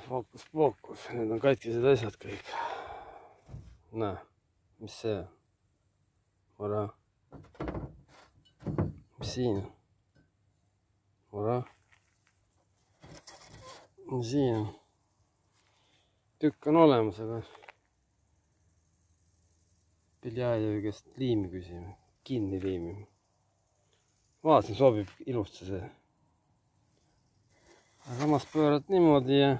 fookus, need on katkised asjad kõik. Näe, mis see on? Vara. Mis siin on? Vara. Siin on. Tükk on olemas, aga Beljajevi käest liimi küsime, kinni liimime. Vaatasin, sobib ilusti see. Samas pöörad niimoodi ja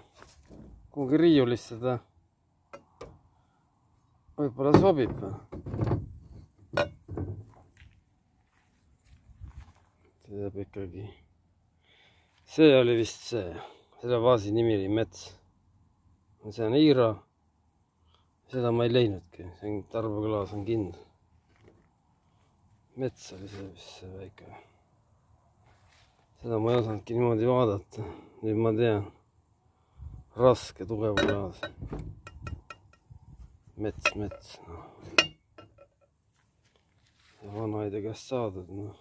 kuhugi riiulist seda võib-olla sobib. See jääb ikkagi. See oli vist see. Selle vaasi nimi oli Mets. See on Iira. Seda ma ei leidnudki. See on tarbeklaas on kindel. Mets oli see vist see väike. Seda ma ei osanudki niimoodi vaadata. Nüüd ma tean. Raske, tugev klaas. Mets. No. Ja vanaide käest saadud. No.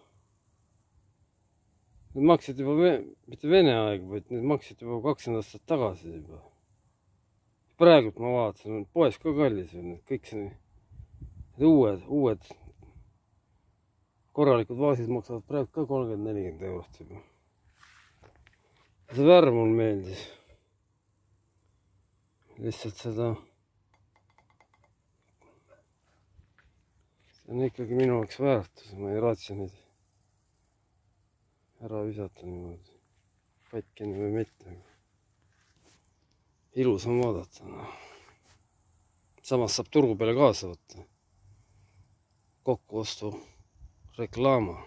Need maksid juba, mitte Vene aeg, vaid need maksid juba 20 aastat tagasi juba. Praegult ma vaatasin, poes ka kallis. Kõik see uued korralikud vaasid maksavad praegu ka 30-40 eurot juba. See värv mul meeldis. Lihtsalt seda. See on ikkagi minu jaoks väärtus. Ma ei raatsi neid ära visata niimoodi. Katkini või mitte. Ilus on vaadata. Samas saab turgu peale kaasa võtta. Kokkuostu reklaama.